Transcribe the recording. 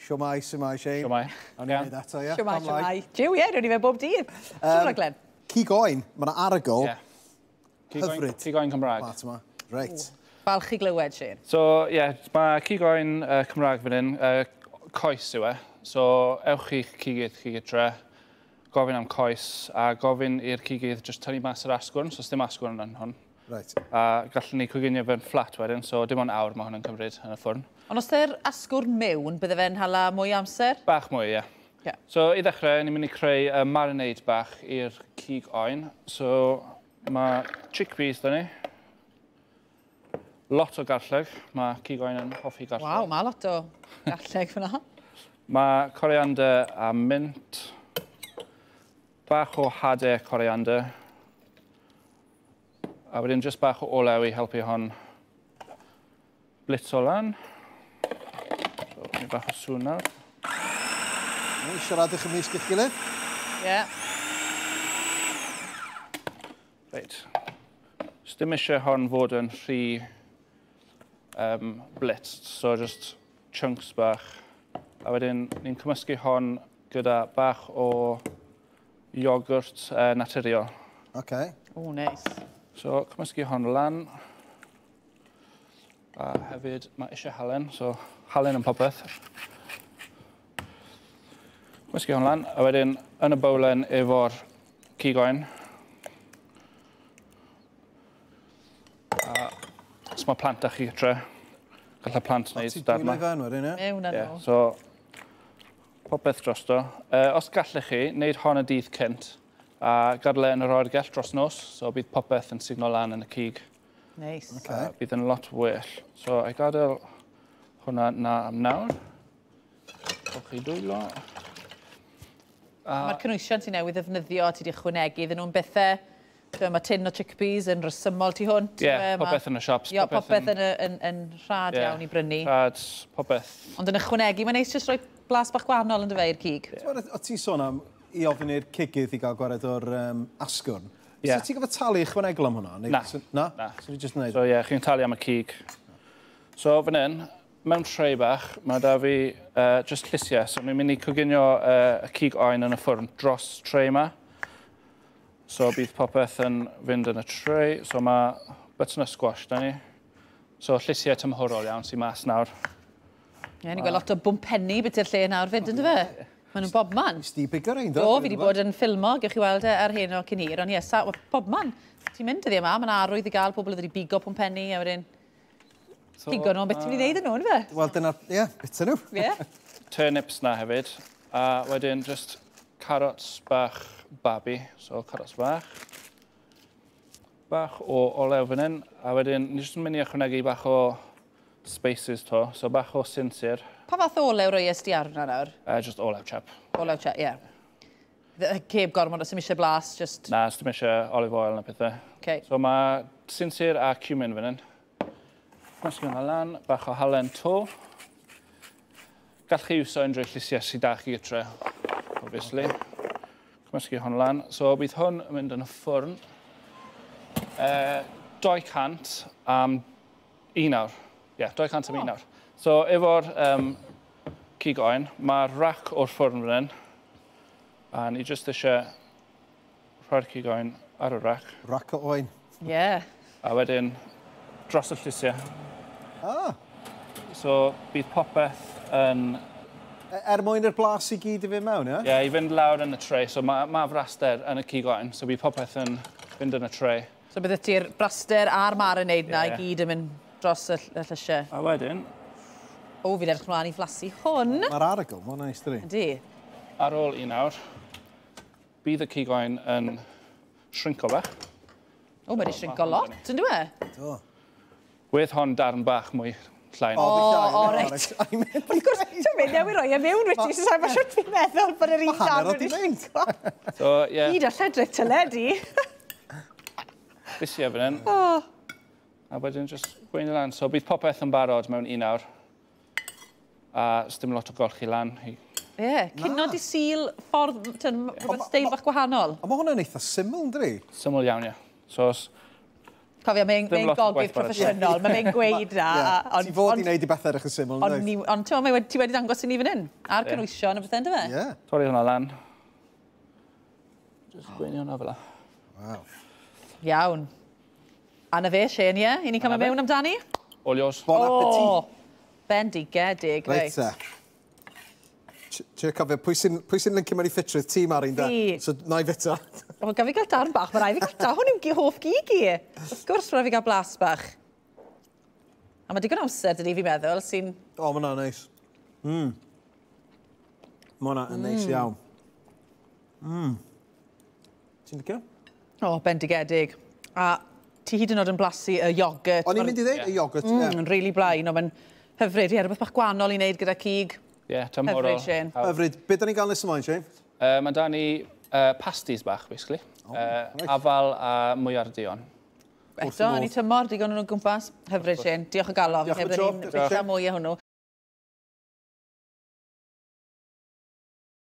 Siwmai, siwmai, Shane. Siwmai. Awn ni'n neud eto, ie. Siwmai, siwmai. Jiw, ie, rwy'n i fe bob dydd. Um, Glenn? Cig oen, mae yna arogl. Yeah. Hyfryd. Cig oen Cymraeg. Plat yma. Reit. Falch i glywed, Shane. So, ie, yeah, mae cig oen Cymraeg fan hyn, coes yw e. So, ewch i'ch cigydd chi gytre, gofyn am coes, a gofyn i'r cigydd jyst tynnu mas yr asgwrn, so dim asgwrn yn hwn. Right. A gallwn ni coginio fe'n fflat wedyn, so dim ond awr mae hwn yn cymryd yn y ffwrn. Ond os ydy'r asgwrn mewn, bydde fe'n hala mwy o amser? Bach mwy, ie. Yeah. So, i ddechrau, ni'n mynd i creu y marinade bach i'r cig oen. So, mae chickpeas da ni. Lot o garlleg. Mae cig oen yn hoffi garlleg. Waw, mae lot o garlleg fyna. Mae coriander a mint. Bach o hadau coriander. A wedyn jyst bach o olew i helpu hon blitzo lan. So, ni bach o sŵn nawr. Siaradwch ymysg eich gilydd. Ie. Yeah. Reit. Dim eisiau hon fod yn rhy blitzed, so just chunks bach. A wedyn ni'n cymysgu hon gyda bach o iogwrt naturiol. OK. O, nice. So, cymysgu hon lan. A hefyd, mae eisiau halen, so halen yn popeth. Cymysgu hon lan, a wedyn yn y bowlen efo'r cig oen. A os mae plant â chi gytre, gallai plant wneud darn yma. Ti'n fewn wedyn, ie? Mewn â nhw. So, popeth drosto. Os gallech chi, wneud hon y dydd cynt, a gadael e yn yr oergell dros nos, so bydd popeth yn sugno lan yn y cig. Nice. Okay. Bydd yn lot well. So, I gadael hwnna na am nawr. Golchi dwylo. Mae'r cynhwysion ti newydd ddefnyddio, ti wedi ychwanegu, iddyn nhw'n bethau, mae tin o chickpeas yn rhesymol tu hwnt. Ie, yeah, popeth yn y shops. Ie, popeth yn rhad iawn i brynu. Rhad, popeth. Ond yn ychwanegu, mae'n neis jyst rhoi blas bach gwahanol yn dy fe i'r cig. Yeah. O ti sôn am i ofyn i'r cigydd i gael gwared o'r asgwrn. Yeah. So ti'n gofio talu ychwanegol am hwnna? Na. Na? Na. So ti jyst yn neud? So ie, yeah, chi'n talu am y cig. So fan hyn, mewn tray bach, mae da fi just llysiau. So ni'n mynd i coginio y cig oen yn y ffwrn dros tray yma. So bydd popeth yn fynd yn y tray. So mae butternut squash da ni. So llysiau tymhorol iawn sy'n mas nawr. Ie, ni'n gweld lot o bwmpenni beth i'r lle nawr fyd, ynddo fe? Maen nhw'n bobman. Sti bigo rein, do? Do, fi wedi bod yn ffilmo, gewch chi weld e ar hyn o cyn hir, ond ie, bobman. Ti'n mynd dyddi yma, mae'n arwydd i gael pobl wedi bigo pwmpenni a wedyn so, pigo nhw, beth ti'n mynd i wneud yn nhw, ynddo fe? Wel, dyna, ie, bita nhw. Ie. Turnips na hefyd, a wedyn just carrots bach babi, so carrots bach. Bach o olew fan hyn, a wedyn ni jyst yn mynd i ychwanegu bach o spices to, so bach o sinsir. Pa fath o olew roies di arno nawr? Just olew chap. Olew chap, ie. Yeah. Ceb gormod os dim eisiau blas, just... Na, os dim eisiau olive oil na pethau. Okay. So mae sinsir a cumin fan hyn. Cymysgu hwnna lan, bach o halen to. Gallwch chi iwso unrhyw llysiau sydd da chi gytre, obviously. Cymysgu hwn lan. So bydd hwn yn mynd yn y ffwrn. 200 am 1 awr. Ie, yeah, 200 am 1 awr. So efo'r cig oen, mae'r rac o'r ffwrn fan hyn. A ni jyst eisiau rhoi'r cig oen ar y rac. Rac o oen. Ie. Yeah. A wedyn dros y llysiau. Ah. So bydd popeth yn... Er mwyn i'r blas i gyd i fynd mewn, ie? Ie, yeah, i fynd lawr yn y tray. So mae braster yn y cig oen, so bydd popeth yn fynd yn y tray. So bydde ti'r braster a'r marinade na i gyd yn mynd dros y llysiau. A wedyn... O, fi'n edrych mlaen i flasu hwn. Mae'r arogl, mae'n neis, dydi? Yndi. Ar ôl 1 awr, bydd y cig oen yn shrinko bach. O, mae wedi shrinko lot, yn dwi e? Do. Wedd hon darn bach mwy llai. O, reit. Wrth gwrs, ti'n mynd newid roi e mewn, wyt ti? So, mae'n siwt fi'n meddwl bod yr un darn wedi shrinko. So, ie. Hyd a lledrith teledu. Llysiau fan hyn. A wedyn just gweini lan. So, bydd popeth yn barod mewn 1 awr. A sdim lot o golchi lan. Ie, cino di Sul ffordd, rhywbeth steil bach gwahanol. A mae hwnna'n eitha syml, yn dydi? Syml iawn, ie. So, Cofio, mae'n Ddim mae lot o gogydd gwaith paratoi. proffesiynol, mae fe'n gweud na. Ti fod i wneud i bethau edrych yn syml, Ond, ynddoedd? ni, ond ti'n meddwl, ti wedi dangos i ni fan hyn, a'r cynwysion a bethau, ynddo fe? Ie. Torri hwnna lan. Just gweini hwnna fel 'a. Waw. Iawn. A na fe, Shane, ie? I ni'n cael Na fe. mewn amdani? All yours. Bon appetit. Bendigedig, Reit reit. te. Trio cofio, pwy sy'n lincio mewn i ffitrwydd? Ti, Marin, da? Fi. So, na i fita. O, gaf fi gael darn bach, mae rhaid fi gael darn. Hwn yw hoff gig i. Wrth gwrs, mae rhaid fi gael blas bach. A mae digon amser, dydy, fi'n meddwl, sy'n. O, mae hwnna'n neis. Mae hwnna yn neis iawn. Ti'n licio? O, bendigedig. A ti hyd yn oed yn blasu y iogurt. O'n i'n mynd i dweud, y iogurt, ie. Yn really blaen, ond mae'n hyfryd. Ie, rhywbeth bach gwahanol i wneud gyda cig. Ie, yeah, tymhorol. Hyfryd, Shane. Hawdd. Hyfryd. Be da ni'n gael nes ymlaen, Shane? Mae da ni pasties bach, basically. Oh, reit. Afal a mwyar duon. Eto, yn ei tymor, digon nhw'n gwmpas. Hyfryd, Shane. Diolch o galon. Diolch am y tro. Diolch am mwy o hwnnw.